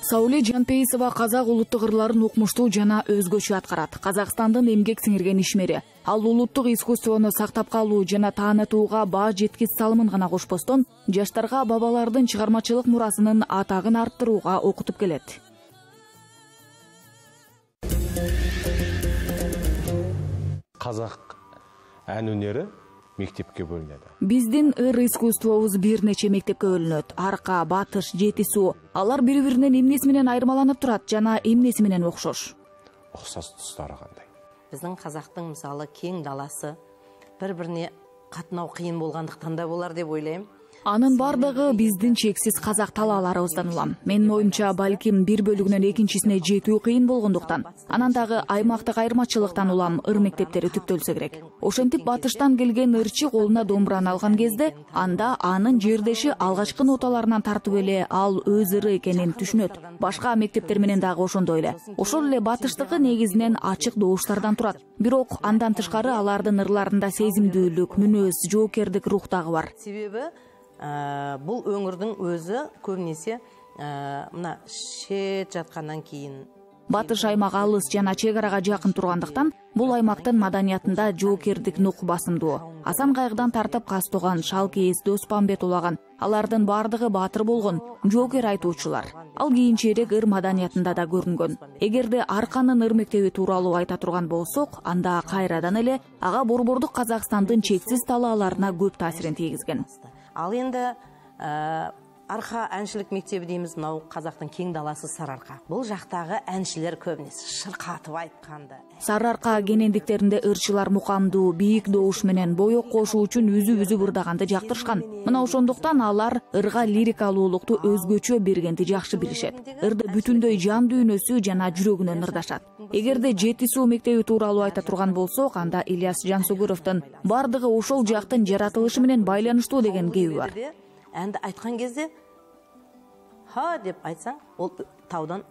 Сауле Жанпейисова казак улуттук ырларын укмуштуу жана өзгөчө аткарат. Казакстандын эмгек сиңирген ишмери. Ал улуттук искусствону сактап калуу жана таанытууга баа жеткиз салымын гана кошпостон, жаштарга бабалардын чыгармачылык мурасынын атагын арттырууга окутуп келет. Казак ән өнері мектепке бөлүнөт. Биздин ыр искусствобуз бир нече мектепке бөлүнөт. Арка, батыш, жети суу. Алар бири-биринен эмнеси менен айырмаланып турат жана эмнеси менен окшош? Окшош тустары кандай? Биздин казактын мисалы кең даласы бири-бирине катноо кыйын болгондуктан да болар деп ойлойм. Анын бардыгы биздин чексиз казак талааларыбыздан улам. Менин оюмча, балким бир бөлүгүнөн экинчисине жетүү кыйын болгондуктан, анан дагы аймактык айырмачылыктан улам ыр мектептери түптөлсө керек. Ошентип батыштан келген ырчы колуна домбураны алган кезде, анда анын жердеши алгачкы ноталарынан тартып эле ал өз ыры экенин түшүнөт. Башка мектептер менен дагы ошондой эле. Ошол эле батыштыкы негизинен ачык добуштардан турат. Бирок андан тышкары алардын ырларында сезимдүүлүк, мүнөз, жоокердик рух дагы бар. Себеби бул өңүрдүн өзү көбүнесе мына шет жаткандан кийин Батыш аймак алыс жана чек арага жакын тургандыктан, бул аймактын маданиятында жоокердик нук басымдуу. Асан Кайгыдан тартып Кастоган, Шалкейиз, Доспамбет улаган, алардын бардыгы баатыр болгон, жоокер айтуучулар. Ал кийинчерээк ыр маданиятында да көрүнгөн. Эгерде Арканын ыр мектеби тууралуу айта турган болсок, анда кайрадан эле ага борбордук Казакстандын чексиз талааларына көп таасирин тийгизген. Ал енді Арка әншілік мектебі дейміз, мынау Қазақтың кең даласы Сарыарка. Бұл жақтағы әншілер көбінесе шырқатып айтқанды. Сарыарка кенендиктеринде ырчылар мукамдуу, бийик добуш менен боек кошуу үчүн үзүп ырдаганды жактырышкан. Мына ошондуктан алар ырга лирикалуулукту өзгөчө бергенди жакшы билишет. Ырды бүтүндөй жан дүйнөсү жана жүрөгүнөн ырдашат. Эгерде жети суу мектеби тууралуу айта турган болсок, анда Ильяс Жансүгүрөвдүн бардыгы ошол жактын жаратылышы менен байланыштуу деген кеби бар. Әнді айтқан кезде, ха деп айтсаң, ол таудан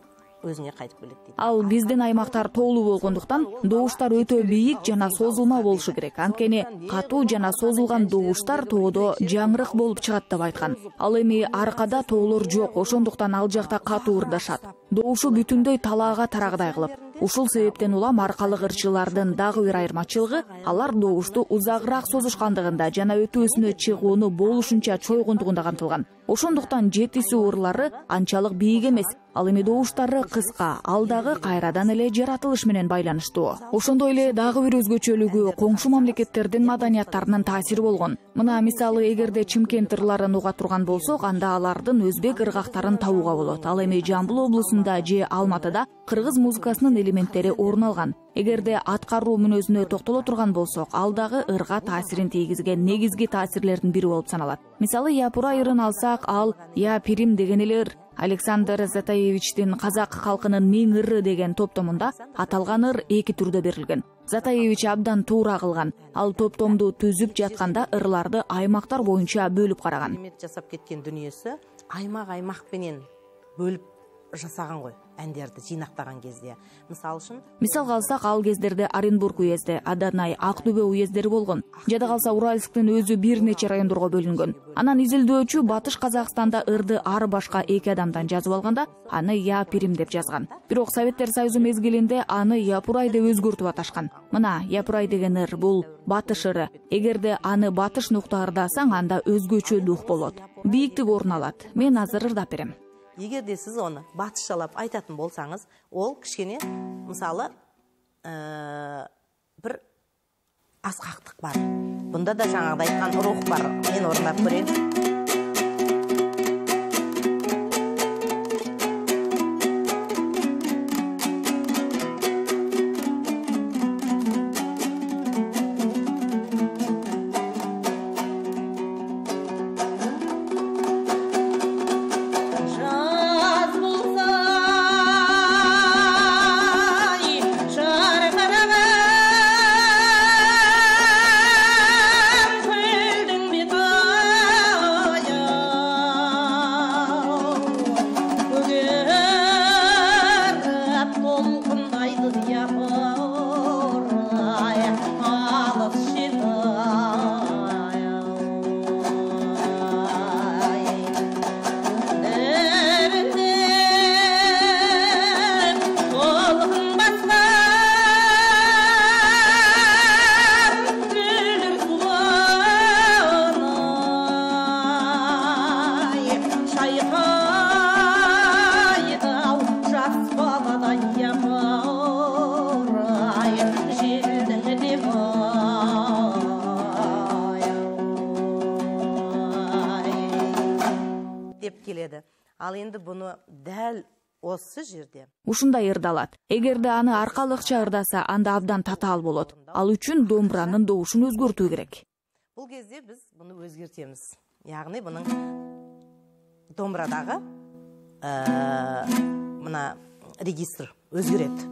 өзіңе қайтып келет дейді. Ал биздин аймактар тоолуу болгондуктан, добуштар өтө бийик жана созулма болушу керек. Анткени катуу жана созулган добуштар тоодо жаңырык болуп чыгат деп айткан. Ал эми Аркада тоолор жок, ошондуктан ал жакта катуу ырдашат. Добушу бүтүндөй талаага тарагдай кылып. Ушул себептен улам аркалык ырчылардын дагы бир айырмачылыгы, алар добушту узагыраак созушкандыгында жана өтүүсүнө чыгууну болушунча чойгондугунда камтылган. Ошондуктан жети суу ырлары анчалык бийик эмес, ал эми добуштары кыска, ал дагы кайрадан эле жаратылыш менен байланыштуу. Ошондой эле дагы бир өзгөчөлүгү коңшу мамлекеттердин маданияттарынын таасири болгон. Мына мисалы, эгерде Чымкент ырларын уга турган болсок, анда алардын өзбек ыргактарын табууга болот. Ал эми Жамбыл облусунда же Алматыда кыргыз музыкасынын элементтери орун алган. Эгерде аткаруу мүнөзүнө токтоло турган болсок, ал дагы ырга таасирин тийгизген негизги таасирлердин бири болуп саналат. Мисалы, Япурай ырын алсак, ал Я Пирим деген эле ыр. Александр Затаевичтин Казак калкынын миң ыры деген топтомунда аталган ыр эки түрдө берилген. Затаевич абдан туура кылган. Ал топтомду түзүп жатканда ырларды аймактар боюнча бөлүп караган. Жасап кеткен дүниесі аймак менен бөлүп жасаган ғой. Әндерді жинақтаған кезде. Мисал алсак, ал кездерде Оренбург уезди, Аданай, Актөбө уездери болгон. Жада калса Уральсктын өзү бир нече райондорго бөлүнгөн. Анан изилдөөчү Батыш Казакстанда ырды ар башка эки адамдан жазып алганда, аны Я Пирим деп жазган. Бирок Советтер Союзу мезгилинде аны Япурай деп өзгөртүп аташкан. Мына Япурай деген ыр бул батыш ыры. Эгерде аны батыш нукта ырдасаң, анда өзгөчө дух болот. Бийиктик орун алат. Мен азыр ырдап берем. Егерде сіз оны батышчалап айтатын болсаңыз, ол кішкене, мысалы, бір асқақтық бар. Бұнда да жаңағыда айтқан рух бар. Мен орындап көрейін. Ал енді бұны дәл осы жерде ушундай ырдалат. Эгерде аны аркалыкча ырдаса, анда абдан татаал болот. Ал үчүн домбуранын добушун өзгөртүү керек. Бұл кезде біз бұны өзгертеміз. Яғни бұның домбырадағы мына регистр өзгереді.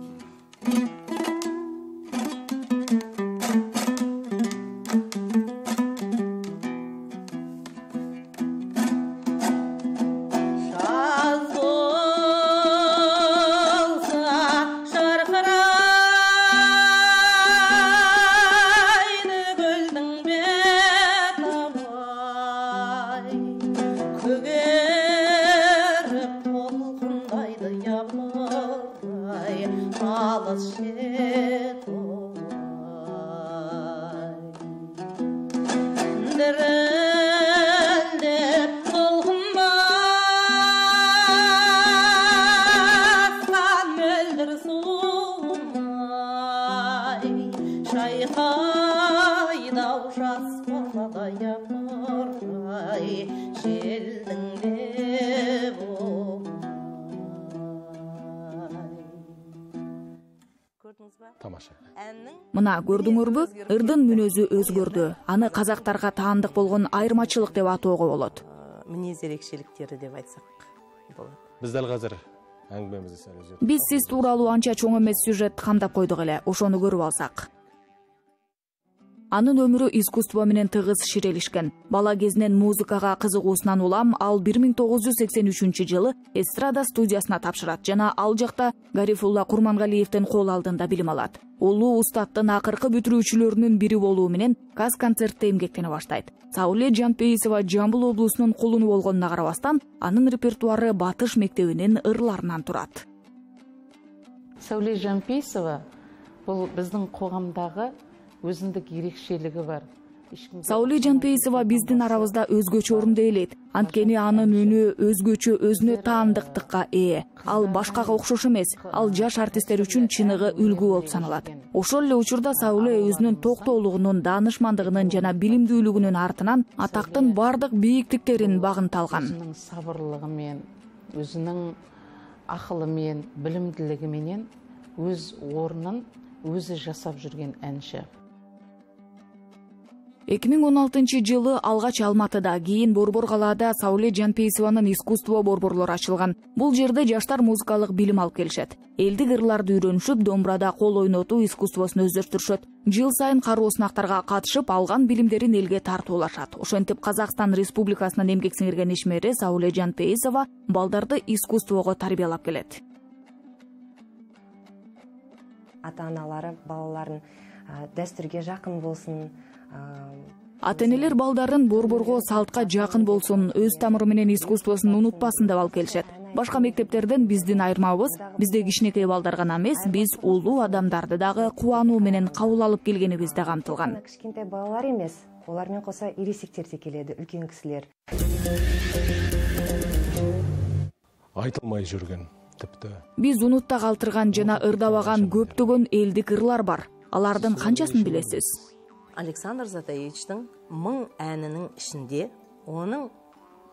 Тамаша. Мына көрдүңөрбү, ырдын мүнөзү өзгөрдү. Аны казактарга таандык болгон айырмачылык деп атоого болот. Минез ерекшеликтери деп айтсак болот. Биз дал азыр әңгімемізді сәл өзгертіп. Биз сиз тууралуу анча чоң эмес сюжет камдап койдук эле. Ошону көрүп алсак. Анын өмүрү искусство менен тыгыз ширелишкен. Бала кезинен музыкага кызыгуусунан улам ал 1983 жылы эстрада студиясына тапшырат жана ал жакта Гарифулла Курмангалиевдин кол алдында билим алат. Улуу устаттын акыркы бүтүрүүчүлөрүнүн бири болуу менен Казконцертте эмгектене баштайт. Сауле Жанпейисова Жамбыл облусунун кулуну болгонуна карабастан, анын репертуары Батыш мектебинин ырларынан турат. Сауле Жанпейисова бул биздин коомдогу өзүндүк ерекшелиги бар. Сауле Жанпейисова биздин арабызда өзгөчө орунду ээлейт. Анткени анын үнү өзгөчө, өзүнө таандыктыкка ээ. Ал башкага окшош эмес. Ал жаш артисттер үчүн чыныгы үлгү болуп саналат. Ошол эле учурда Сауле өзүнүн токтоолугунун, даанышмандыгынын жана билимдүүлүгүнүн артынан атактын бардык бийиктиктерин багынта алган. Өзүнүн сабырлыгы менен, өзүнүн акылы менен, билимдүүлүгү менен өз орнун өзү жасап жүрген әнші. 2016 жылы алгач Алматыда, кийин Борбор калаада Сауле Жанпейисованын искусство борборлору ачылган. Бул жерде жаштар музыкалык билим алып келишет. Элдик ырларды үйрөнүшүп, домбурада кол ойнотуу искусствосун өздөштүрүшөт. Жыл сайын кароо сынактарга катышып, алган билимдерин элге тартуулашат. Ошентип Казакстан Республикасынын эмгек сиңирген ишмери Сауле Жанпейисова балдарды искусствого тарбиялап келет. Ата-аналары балаларын дәстүргө жакын болсун. Ата-энелер балдарын борборго, салтка жакын болсун, өз тамыры менен искусствосун унутпасын деп алып келишет. Башка мектептерден биздин айырмабыз, бизде кичинекей балдар гана эмес, биз улуу адамдарды дагы кубануу менен кабыл алып келгенибиз да камтылган. Кичинекей балалар эмес, олар менен коса ирисиктер да келеди, үлкөн кисилер. Айтылмай жүргөн. Биз унутта калтырган жана ырдабаган көптөгөн элдик ырлар бар. Алардын канчасын билесиз? Александр Затаевичтин 1000 әнинин ичинде onun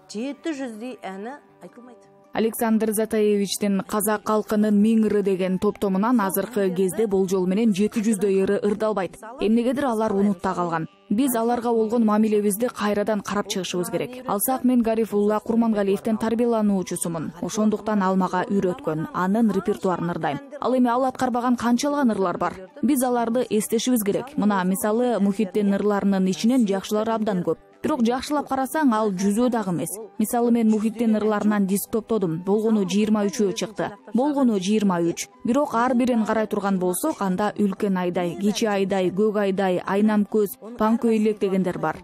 700дей әни айтылмайт. Александр Затаевичтин казак калкынын 1000 ыры деген топтомунан азыркы кезде болжол менен 700дөй ыры ырдалбайт. Эмнегедир алар унутта калган. Биз аларга болгон мамилебизди кайрадан карап чыгышыбыз керек. Алсак, мен Гарифулла Курмангалиевдин тарбиялануучусумун. Ошондуктан ал мага үйрөткөн, анын репертуарын ырдайм. Ал эми ал аткарбаган канчалган ырлар бар. Биз аларды эстешибиз керек. Мына мисалы Мухиттин ырларынын ичинен жакшылары абдан көп. Бирок жакшылап карасаң, ал жүзөө дагы эмес. Мисалы мен Мухиттин ырларынан диск топтодум. Болгону 23 чыкты. Болгону 23. Бирок ар бирин карай турган болсок, анда Үлкен айдай, Кичи айдай, Көк айдай, Айнам көз, Панкөйлек дегендер бар.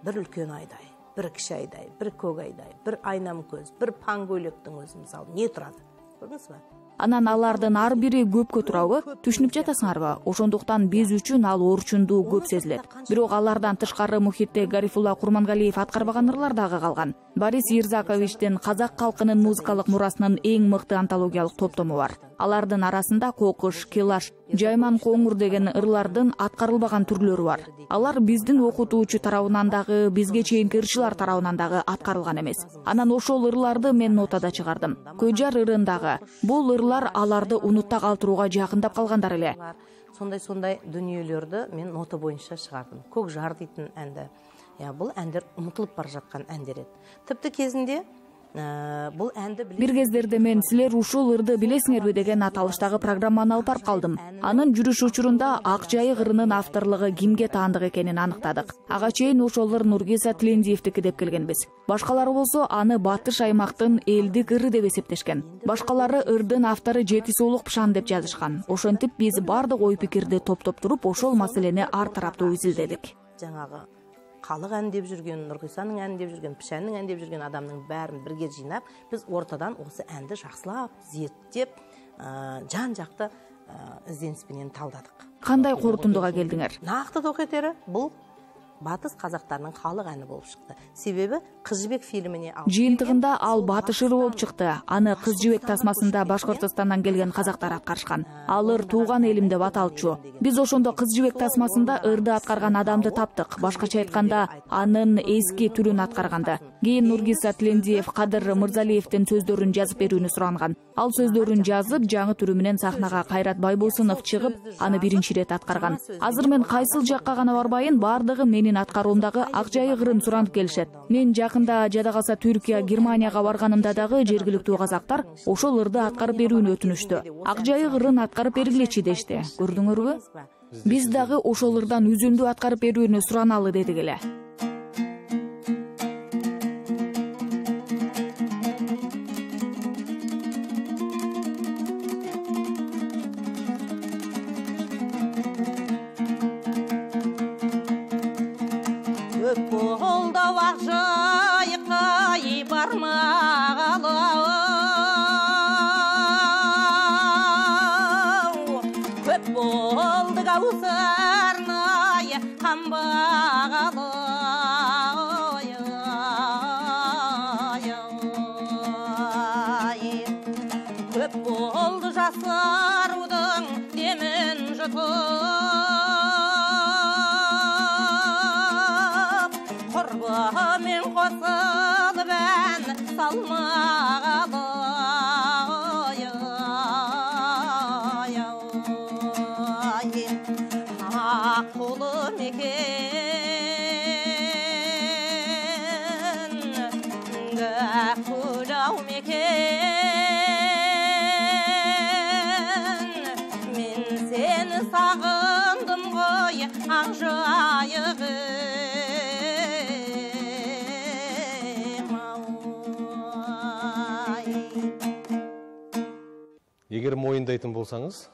Бир Үлкен айдай, бир Кичи айдай, бир Көк айдай, бир Айнам көз, бир Панкөйлектин өзү мисалы не турат? Көрдүңүзбү? Анан алардын ар бири көпкө турабы, түшүнүп жатасыңарбы? Ошондуктан биз үчүн ал орчундуу көп сезилет. Бирок алардан тышкары мухитте Гарифулла Курмангалиев аткарбаган ырлар дагы калган. Борис Ирзаковичтин казак калкынын музыкалык мурасынын эң мыкты антологиялык топтому бар. Алардын арасында Кокуш, Келаш, Жайман Коңур деген ырлардын аткарылбаган түрлөрү бар. Алар биздин окутуучу тарабынан дагы, бизге чейинки ырчылар тарабынан дагы аткарылган эмес. Анан ошол ырларды мен нотада чыгардым. Көйжар ырындагы бул ырлар аларды унутта калтырууга жакындап калгандар эле. Сондай дүниелерді мен нота боюнча чыгардым. Көк жар дейтін әнді. Бұл әндер ұмытылып бара жатқан әндер еді. Тіпті кезінде бұл әнді бир кездерде мен силер ушул ырды билесиңерби деген аталыштагы программаны алып барып калдым. Анын жүрүш учурунда Ак Жайык ырынын авторлугу кимге таандык экенин аныктадык. Ага чейин ошол ыр Нургиза Тилендиевдики деп келгенбиз. Башкалары болсо аны Батыш аймактын элдик ыры деп эсептешкен. Башкалары ырдын автору Жетисулук Пшан деп жазышкан. Ошентип биз бардык ой пикирди топтоп туруп ошол маселени ар тараптуу изилдедик. Жаңагы Калык ән деп жүрген, Нургисаның ән деп жүрген, Пшанның ән деп жүрген адамның бәрін бірге жинап, біз ортадан осы әнді жақсылап, зерттеп, жан-жақты ізденіспенен талдадық. Кандай корутундуга келдиңер? Нақты токетері бұл Батыс казактарының халық әні болып шықты. Себебі Кыз жібек фильміне жыйынтыгында ал батыш ыры болуп чыкты. Аны Кыз жибек тасмасында Башкортостандан келген казактар аткарышкан. Ал ыр тууган элим деп аталчу. Биз ошондо Кыз жибек тасмасында ырды аткарган адамды таптык. Башкача айтканда, анын эски түрүн аткарганды. Кийин Нургиза Тилендиев Кадыр Мырзалиевдин сөздөрүн жазып берүүнү суранган. Ал сөздөрүн жазып, жаңы түрү менен сахнага Кайрат Байбосунов чыгып, аны биринчи ирет аткарган. Азыр мен кайсыл жакка гана барбайын, бардыгы менин аткаруумдагы Ак Жайык ырын суранып келишет. Мен жакында жада калса Түркия, Германияга барганымда дагы жергиликтүү казактар ошол ырды аткарып берүүнү өтүнүштү. Ак Жайык ырын аткарып бергилечи дешти. Көрдүңөрбү? Биз дагы ошол ырдан үзүндү аткарып берүүнү сураналы дедик эле. Егер мойындайтын болсаңыз,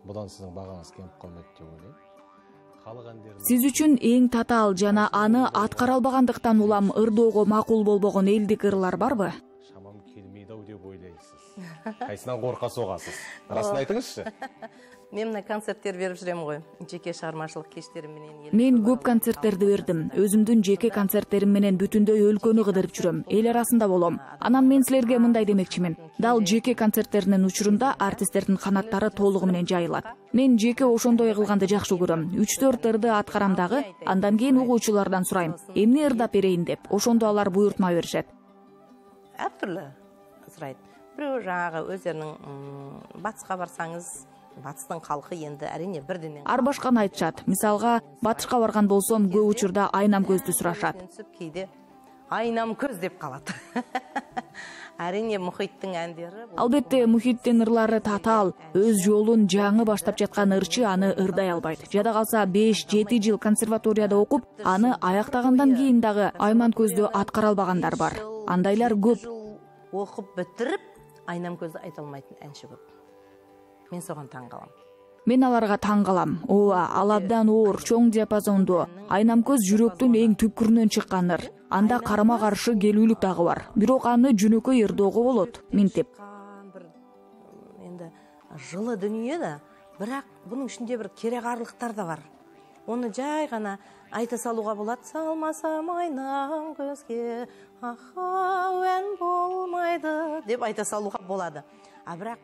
бұдан сіздің бағаңыз кеміп қалмайды деп ойлаймын. Сиз үчүн эң татаал жана аны аткара албагандыктан улам ырдоого макул болбогон элдик ырлар барбы? Шамам келмейді ау деп ойлайсыз. Кайсынан корка соғасыз? Расын айтыңызшы. Мен мына концерттер берип жүрем ғой. Жеке чыгармачылык кечтерим менен. Мен көп концерттерди бердим. Өзүмдүн жеке концерттерим менен бүтүндөй өлкөнү кыдырып жүрөм. Эл арасында болом. Анан мен силерге мындай демекчимин. Дал жеке концерттеринин учурунда артисттердин канаттары толугу менен жайылат. Мен жеке ошондой кылганды жакшы көрөм. 3-4 ырды аткарам дагы, андан кийин угуучулардан сурайм. Эмне ырдап берейин деп. Ошондо алар буйртма беришет. Ар түрлүү сурайт. Бирөө жаңагы өздөрүнүн батыска барсаңыз, батыстын калкы енді әрине бірден ар башканы айтышат. Мисалга, батышка барган болсом, көп учурда айнам көздү сурашат. Кейде айнам көз деп калат. Әрине мухиттин әндери. Албетте мухиттин ырлары татаал, өз жолун жаңы баштап жаткан ырчы аны ырдай албайт. Жада калса 5-7 жыл консерваторияда окуп, аны аяктагандан кийин дагы айман көздү аткара албагандар бар. Андайлар көп. Окуп бүтүрүп, айнам көздү айта алмайтын әнчи көп. Мен соған таң қалам. Мен аларга таң калам. Ооба, ал абдан оор, чоң диапазондуу. Айнам көз жүрөктүн эң түпкүрүнөн чыккан ыр. Анда карама каршы келүүлүк дагы бар. Бирок аны жөнөкөй ырдоого болот, минтип. жылы дүнүйө да, бирок бунун ичинде бир керекарлыктар да бар. Оны жай гана айта салууга болот. Салмасам айнам көзгө, ахауэн болмайды деп айта салууга болот.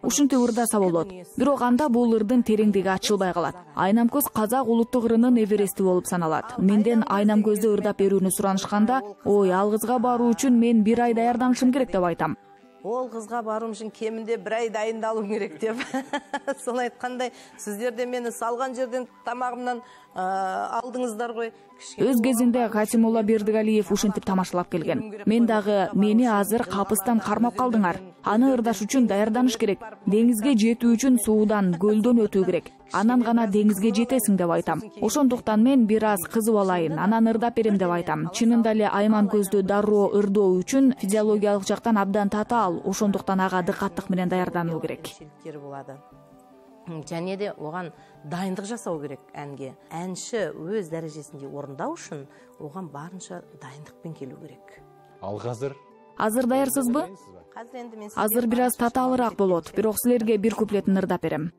Ушинтип ырдаса болот. Бирок анда бул ырдын тереңдиги ачылбай калат. Айнам көз казак улуттук ырынын эверести болуп саналат. Менден айнам көздү ырдап берүүнү суранышканда, ой, ал кызга баруу үчүн мен 1 ай даярданышым керек деп айтам. Ол кызга баруум үчүн кеминде 1 ай дайындалуум керек деп. Сол айткандай, сиздер де мени салган жерден тамагымдан алдыңыздар ғой. Өз кезинде Касимулла Бердигалиев ушинтип тамашалап келген. Мен дагы мени азыр капыстан кармап калдыңар. Аны ырдаш үчүн даярданыш керек. Деңизге жетүү үчүн суудан, көлдөн өтүү керек. Анан гана деңизге жетесиң деп айтам. Ошондуктан мен бир аз кызып алайын, анан ырдап берем деп айтам. Чынында эле Айман көздү дароо ырдоо үчүн физиологиялык жактан абдан татаал, ошондуктан ага дыкаттык менен даярдануу керек. Және де оған дайындық жасау керек әнге. Әнші өз дәрежесінде орындау үшін оған барынша дайындықпен келу керек. Ал қазір? Азыр даярсызбы? Азыр бир аз татаалыраак болот, бирок силерге бир куплетін ырдап берем.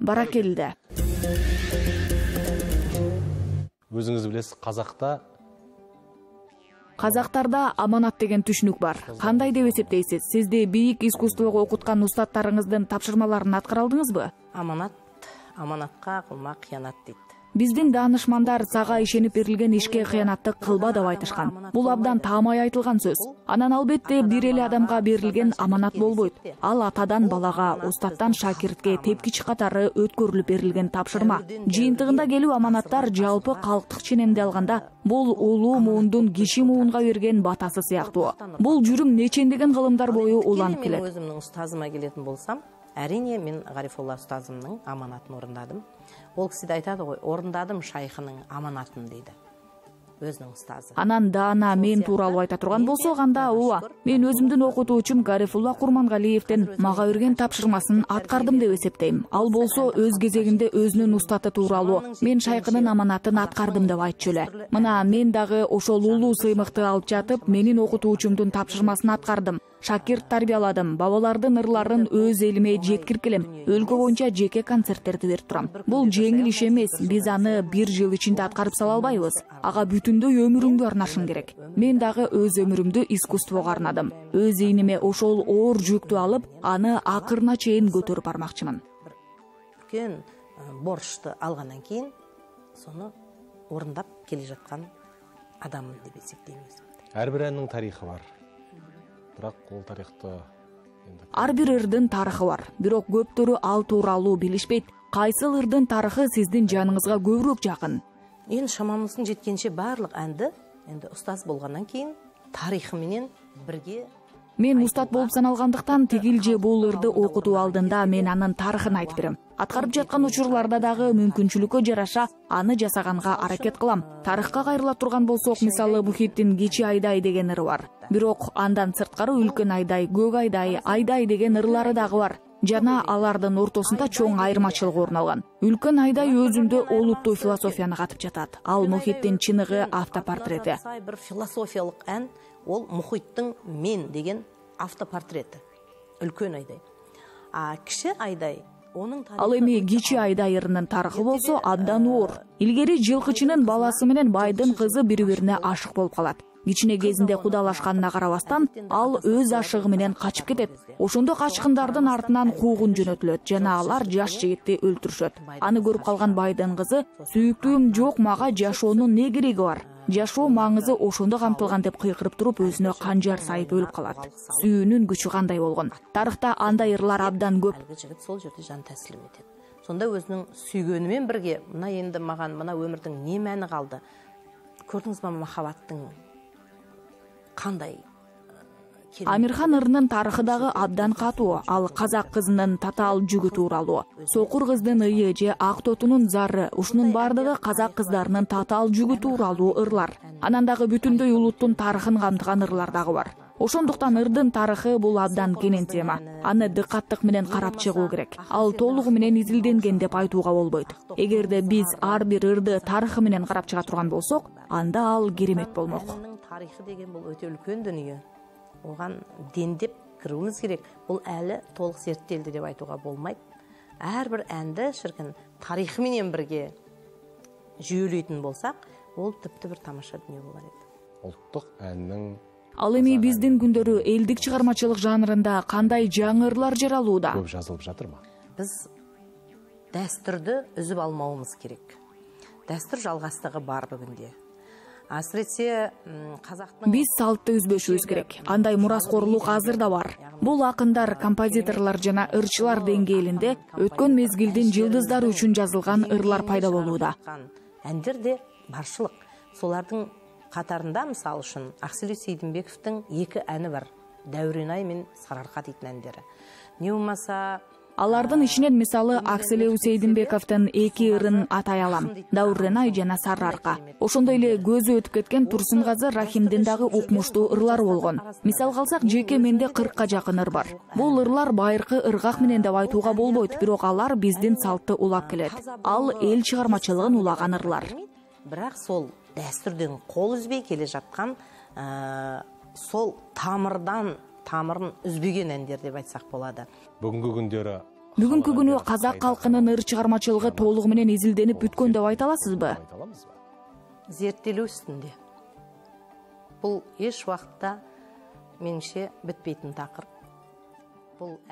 Баракелде. Өзүңүз билесиз, Казактарда аманат деген түшүнүк бар. Кандай деп эсептейсиз? Сизди бийик искусствого окуткан устаттарыңыздын тапшырмаларын аткара алдыңызбы? Аманат, аманатка кылма кыянат дейт. Биздин даанышмандар сага ишенип берилген ишке кыянаттык кылба деп айтышкан. Бул абдан таамай айтылган сөз. Анан албетте бир эле адамга берилген аманат болбойт. Ал атадан балага, устаттан шакиртке тепкич катары өткөрүлүп берилген тапшырма. Жыйынтыгында келүү аманаттар жалпы калктык ченемде алганда бул улуу муундун киши муунга берген батасы сыяктуу. Бул жүрүм нечендеген кылымдар бою уланып келет. Өзүмдүн устазыма келетін болсам, әрине мен Гарифулла устазымдын аманатын орындадым. Ол кісі де айтады ғой, орындадым шайхының аманатын дейді. Өзінің устазы. Анан даана мен тууралуу айта турган болсок, анда ооба, мен өзүмдүн окутуучум Гарифулла Курмангалиевдин мага берген тапшырмасын аткардым деп эсептейм. Ал болсо өз кезегинде өзүнүн устаты тууралуу мен шайхынын аманатын аткардым деп айтчу эле. Мына мен дагы ошол улуу сыймыкты алып жатып, менин окутуучумдун тапшырмасын аткардым. Шакирт тарбияладым, бабалардын ырларын өз элиме жеткирип келем. Өлкө боюнча жеке концерттерди берип турам. Бул жеңил иш эмес, биз аны 1 жыл ичинде аткарып сала албайбыз. Ага бүтүндөй өмүрүңдү арнашың керек. Мен дагы өз өмүрүмдү искусствого арнадым. Өз ийниме ошол оор жүктү алып, аны акырына чейин көтөрүп бармакчымын. Үлкен борчту алгандан кийин, сону орындап келе жаткан адаммын деп эсептейм. Ар бир әннин тарихы бар. Бирок ол тарихты ар бир ырдын тарыхы бар. Бирок көптөрү ал тууралуу билишпейт. Кайсыл ырдын тарыхы сиздин жаныңызга көбүрөөк жакын? Эң шамамыздын жеткенче барлык әнди энди устаз болгондон кийин тарыхы менен бирге. Мен устат болуп саналгандыктан тигил же бул ырды окутуу алдында мен анын тарыхын айтып берем. Аткарып жаткан учурларда дагы мүмкүнчүлүккө жараша аны жасаганга аракет кылам. Тарыхка кайрыла турган болсок, мисалы Мухиттин Кичи Айдай деген ыры бар. Бирок андан сырткары Үлкөн Айдай, Көк Айдай, Айдай деген ырлары дагы бар. Жана алардын ортосунда чоң айырмачылык орун алган. Үлкөн Айдай өзүндө олуттуу философияны катып жатат. Ал Мухиттин чыныгы автопортрети. Бир философиялык ән, ол Мухиттин Мен деген автопортрети. Үлкөн Айдай. Кичи Айдай Ал эми Кичи Айдай ырынын тарыхы болсо абдан оор. Илгери жылкычынын баласы менен байдын кызы бири-бирине ашык болуп калат. Кичине кезинде кудалашканына карабастан ал өз ашыгы менен качып кетет. Ошондо качкындардын артынан куугун жөнөтүлөт жана алар жаш жигитти өлтүрүшөт. Аны көрүп калган байдын кызы «Сүйүктүүм жок, мага жашоонун не кереги бар? Жашоо маңызы ошондо камтылган» деп кыйкырып туруп өзүнө канжар сайып өлүп калат. Сүйүүнүн күчү кандай болгон? Тарыхта андай ырлар абдан көп. Жигит сол жерде жан таслим этет. Сонда өзүнүн сүйгөнү менен бирге мына энди мага мына өмүрдүн не мәни калды? Көрдүңүзбү махаббаттын кандай? Амирхан ырынын тарыхы дагы абдан катуу. Ал казак кызынын татаал жүгү тууралуу. Сокур кыздын ыйы же ак тотунун зары, ушунун бардыгы казак кыздарынын татаал жүгү тууралуу ырлар. Анан дагы бүтүндөй улуттун тарыхын камтыган ырлар дагы бар. Ошондуктан ырдын тарыхы бул абдан кенен тема. Аны дыкаттык менен карап чыгуу керек. Ал толугу менен изилденген деп айтууга болбойт. Эгерде биз ар бир ырды тарыхы менен карап чыга турган болсок, анда ал керемет болмок. Тарыхы деген бул өтө үлкөн дүнүйө. Оған дендеп кірүүбүз керек. Бұл әлі толық зерттелди деп айтууга болмайт. Әрбір әнді шіркін тарихы менен бірге жүйөлөйтүн болсақ, ол тіпті бір тамаша дүние болар еді. Улуттук әннің Ал эми биздин күндөрү элдик чыгармачылык жанрында кандай жаңы ырлар жаралууда? көп жазылып жатырбы? Біз дәстүрді үзүп алмауымыз керек. Дәстүр жалғастығы бар бүгүнде. Асырetse қазақтың Биз салтты үзбөшүбүз керек. Андай мураскорлук азыр да бар. Бул акындар, композиторлор жана ырчылар деңгээлинде өткөн мезгилдин жылдыздары үчүн жазылган ырлар пайда болууда. Әндер де баршылык. Солардың қатарында мисалы үчүн Акселеу Сейдимбековдун 2 әні бар. Дәуренай мен Сарыарка дейтин әндери. Не болмаса Алардын ичинен мисалы Акселеу Сейдимбековдун 2 ырын атай алам. Дәуренай жана Сарыарка. Ошондой эле көзү өтүп кеткен Турсунгазы Рахимдин дагы укмуштуу ырлары болгон. Мисал калсак, жеке менде 40ка жакын ыр бар. Бул ырлар байыркы ыргак менен деп айтууга болбойт, бирок алар биздин салтты улап келет. Ал эл чыгармачылыгын улаган ырлар. Бирок сол дәстүрдөн кол үзбей келе жаткан сол тамырын үзбеген әндер деп айтсак болот. Бүгүнкү күнү казак калкынын ыр чыгармачылыгы толугу менен изилденип бүткөн деп айта аласызбы? Зерттелүү үстүндө. Бул эч убакытта менимче бүтпейтин такыр.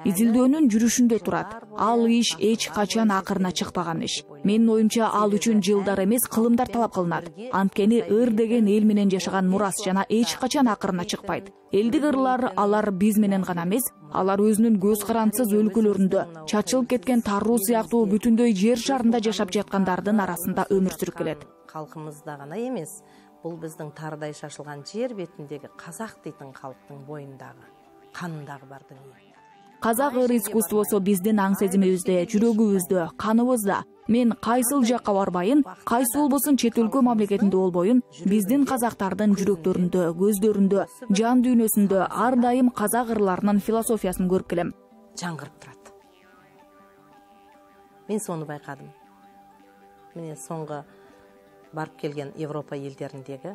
Изилдөөнүн жүрүшүндө турат. Ал иш эч качан акырына чыкпаган иш. Менин оюмча ал үчүн жылдар эмес, кылымдар талап кылынат. Анткени ыр деген эл менен жашаган мурас жана эч качан акырына чыкпайт. Элдик ырлар алар биз менен гана эмес, алар өзүнүн көз карандысыз өлкөлөрүндө, чачылып кеткен таруу сыяктуу бүтүндөй жер шарында жашап жаткандардын арасында өмүр сүрүп келет. Калкымызда гана эмес, бул биздин тарыдай шашылган жер бетиндеги казак дейтин калктын боюндагы, канындагы бар дүние. Казак ыр искусствосу биздин аң сезимибизде, жүрөгүбүздө, каныбызда. Мен кайсыл жакка барбайын, кайсы болбосун чет өлкө мамлекетинде болбойын, биздин казактардын жүрөктөрүндө, көздөрүндө, жан дүйнөсүндө ар дайым казак ырларынын философиясын көрүп келем. Жаңгырып турат. Мен сону байкадым. Міне соңғы барып келген Европа елдеріндегі,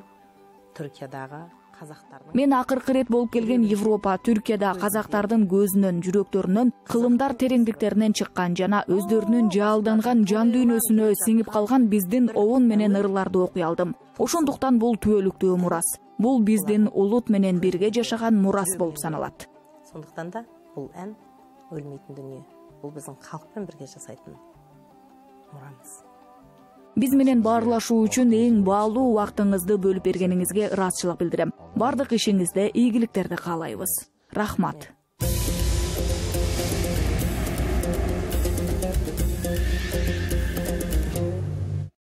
Түркиядағы казактардын. Мен акыркы рет болуп келген Европа, Түркияда казактардын көзүнөн, жүрөктөрүнөн, кылымдар тереңдиктеринен чыккан жана өздөрүнүн жаалданган жан дүйнөсүнө сиңип калган биздин обон менен ырларды окуй алдым. Ошондуктан бул түбөлүктүү мурас. Бул биздин улут менен бирге жашаган мурас болуп саналат. Сондуктан да бул ән өлмейтин дүние. Бул биздин калкпен бирге жасайтын мурамыз. Биз менен баарлашуу үчүн эң баалуу убактыңызды бөлүп бергениңизге ыраазычылык билдирем. Бардык ишиңизде ийгиликтерди каалайбыз. Рахмат.